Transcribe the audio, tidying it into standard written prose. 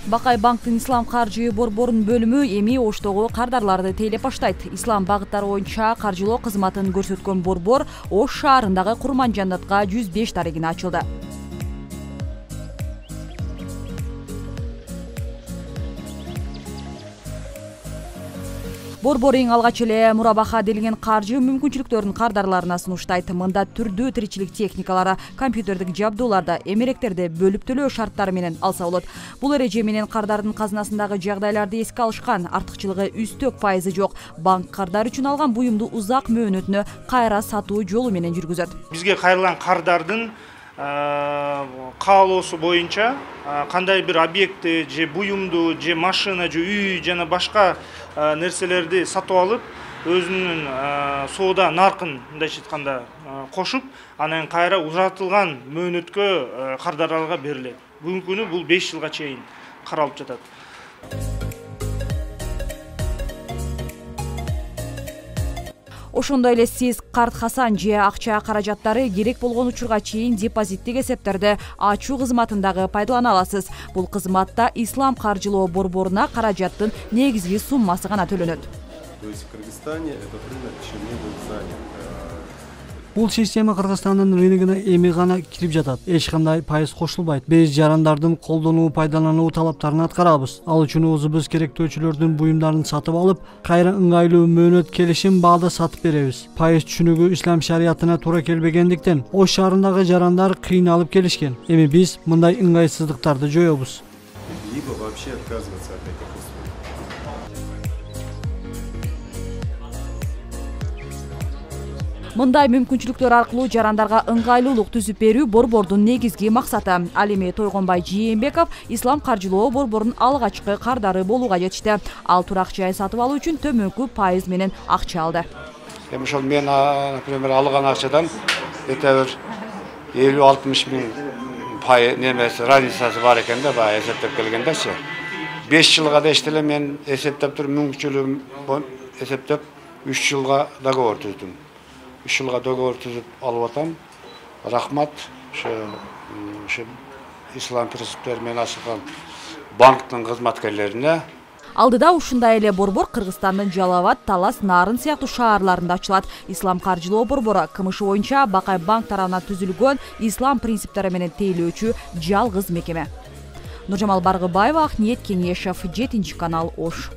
Бакай банктын ислам каржы борборунун бөлүмү эми Оштогу кардарларды тейлеп баштайт. Ислам багыттары боюнча каржылоо кызматын көрсөткөн борбор Ош шаарындагы Курманжаннатка 105 дарегине ачылды. Борбор эң алгач эле мурабаха делген каржы мүмкүнчүлүктөрүн кардарларына сунуштайт. Мында түрдүү тиричилик техникалары, компьютердик жабдууларды, эмеректерди бөлүп төлөө шарттары менен алса болот. Бул эреже менен кардардын казынасындагы жагдайларды эске алышкан, артыкчылыгы үстөк пайызы жок. Банк кардар үчүн алган буюмду узак мөөнөтүнө кайра сатуу жолу менен жүргүзөт. Бизге кайрылган кардардын каалоосу боюнча кандай бир объектти же буюмду же машина же үй жана башка нерселерди сатып алып, өзүнүн соода наркын мындайча айтканда кошуп, анан кайра узартылган мөөнөткө кардарларга берилет. Бүгүнкү күнү бул 5 жылга чейин каралып жатат. Ошондой эле сиз карт Хасан же акча каражаттары керек болгон учурга чейин депозиттик эсептерди ачуу кызматындагы пайдалана аласыз. Бул кызматта Ислам каржылоо борборуна каражаттын негизги суммасы гана төлөнөт. То есть в Кыргызстане этот рынок еще не был занят. Бул система Кыргызстандын рыногуна эми гана кирип жатат. Эч кандай пайыз кошулбайт. Биз жарандардын колдонуу пайдалануу талаптарын аткарабыз. Ал үчүн өзүбүз керектөөчүлөрдүн буюмдарын сатып алып, кайра ыңгайлуу мөөнөт келишим баада сатып беребиз. Пайыз түшүнүгү ислам шариятына туура келбегендиктен Ош шаарындагы жарандар кыйналып келишкен. Эми биз мындай ыңгайсыздыктарды жоёбуз. Либо вообще отказываться от этих услуг. Мындай мүмкүнчүлүктөр аркылуу жарандарга ыңгайлуулук түзүп берүү борбордун негизги максаты. Ал эми Тойгонбай Жээнбеков Ислам каржылоо борборунун алгачкы кардары болууга жетишти. Ал турак жай сатып алуу үчүн төмөнкү пайыз менен акча алды. Эми ошол мен, например, алган акчадан этебир 50-60 миң пай немеси разницасы бар экен да, баягы эсептеп келгендечи. 5 жылга да иштеле мен эсептеп туруп, мүмкүнчүлүгүм эсептеп 3 жылга договор түздүм. 3 жылга договор түзүп алып атам. Рахмат ошо ислам принциптери менен ачылган банктын кызматкерлерине. Алдыда ушундай эле борбор Кыргызстандын Жалал Абад, Талас, Нарын сыяктуу шаарларында ачылат. Ислам каржылоо борбору КМШ боюнча Бакай банк тарабынан түзүлгөн ислам принциптери менен тейлөөчү жалгыз мекеме. Нуржамал Баргыбаева, Акниет Кенешев, 7 канал, Ош.